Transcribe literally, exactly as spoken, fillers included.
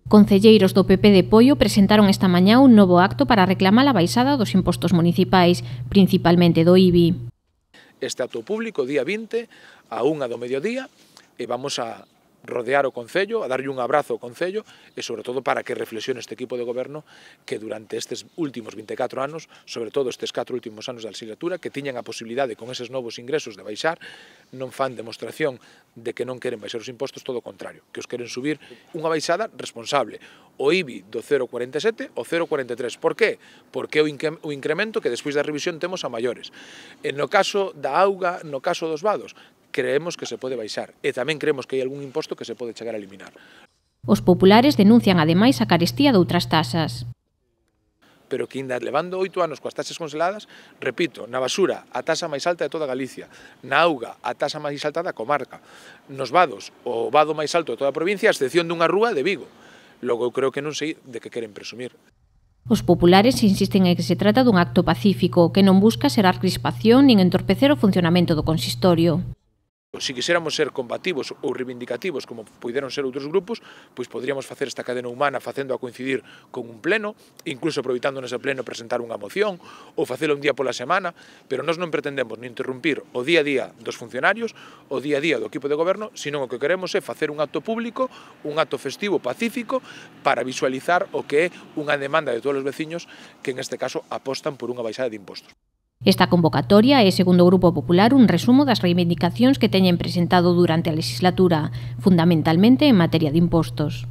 Concelleiros do P P de Poio presentaron esta mañá un novo acto para reclamar a baixada dos impostos municipais, principalmente do I B I. Este acto público, día vinte, a unha do mediodía, e vamos a rodear o Concello, a darlle un abrazo ao Concello e, sobre todo, para que reflexione este equipo de goberno que durante estes últimos vinte e catro anos, sobre todo estes catro últimos anos da legislatura, que tiñan a posibilidade con eses novos ingresos de baixar, non fan demostración de que non queren baixar os impostos, todo o contrario, que os queren subir unha baixada responsable. O I B I do cero coma cuarenta e sete ao cero coma cuarenta e tres. Por que? Porque é o incremento que despois da revisión temos a maiores. E no caso da auga, no caso dos vados, creemos que se pode baixar e tamén creemos que hai algún imposto que se pode chegar a eliminar. Os populares denuncian ademais a carestía de outras taxas. Pero que ainda levando oito anos coas taxas congeladas, repito, na basura a taxa máis alta de toda Galicia, na auga a taxa máis alta da comarca, nos vados o vado máis alto de toda a provincia, a excepción dunha rúa de Vigo. Logo eu creo que non sei de que queren presumir. Os populares insisten en que se trata dun acto pacífico que non busca xerar crispación nin entorpecer o funcionamento do consistorio. Se quixéramos ser combativos ou reivindicativos como puderon ser outros grupos, pois poderíamos facer esta cadena humana facendo a coincidir con un pleno, incluso aproveitando nese pleno presentar unha moción ou facelo un día pola semana, pero nós non pretendemos nin interrumpir o día a día dos funcionarios, o día a día do equipo de goberno, senón o que queremos é facer un acto público, un acto festivo pacífico para visualizar o que é unha demanda de todos os veciños que en este caso apostan por unha baixada de impostos. Esta convocatoria é, segundo o Grupo Popular, un resumo das reivindicacións que teñen presentado durante a legislatura, fundamentalmente en materia de impostos.